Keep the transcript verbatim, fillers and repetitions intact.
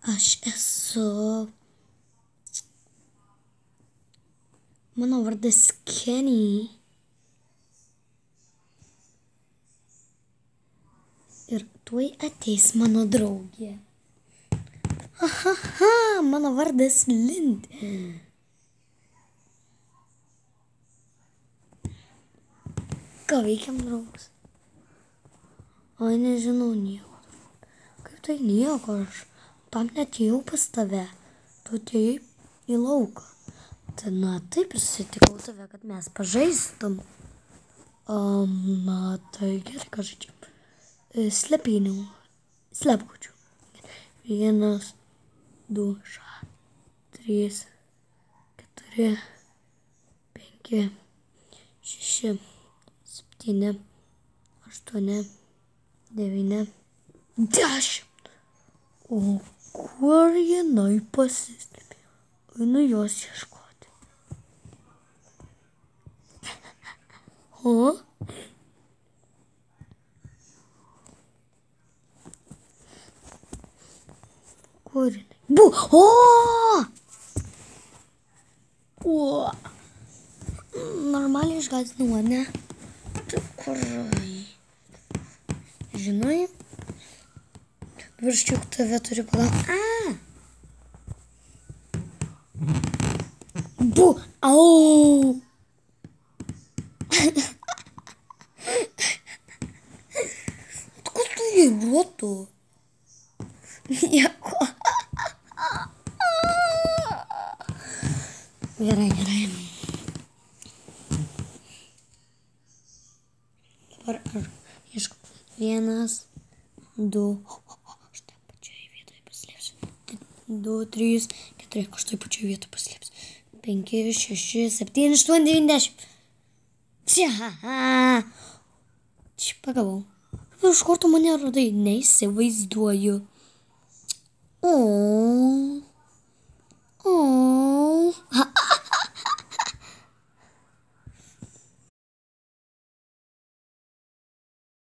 Aš esu... Mano vardas Kenny. Ir tuoj ateis mano draugė. Ahaha, mano vardas Lind. Ką veikiam, draugas? Ai, nežinau nieko. Kaip tai nieko, aš tam netėjau pas tave. Tu atėjai į lauką. Tai na, taip ir susitikau tave, kad mes pažaistum. Um, na, tai gerai, ką žaidžiam. Slepynių. Slepkučių. Vienas, du, ša, trys, keturi, penki, šeši, septyni, aštuoni, devyni, dešimt. O kur jinai pasislėpė? Einu jos ieškoti. O? Kur jinai? Bu! O! O! Normaliai išgąsdinau, ne? Tai kur? Žinai? Dabar aš juk tave turiu palaukti. A! Bu! Au! Kur tu jį brotu? Nieko. Gerai, gerai. Dabar aš ieškau. Vienas, du. Aš taip pačioje vietoje paslėpsiu. Du, trys, keturi. Aš taip pačioje vietoje paslėpsiu. Penki, šeši, septyni, aštuoni, devyni, dešimt. Čia. Čia pagavau. Iš kur tu mane radai? Neįsivaizduoju. O.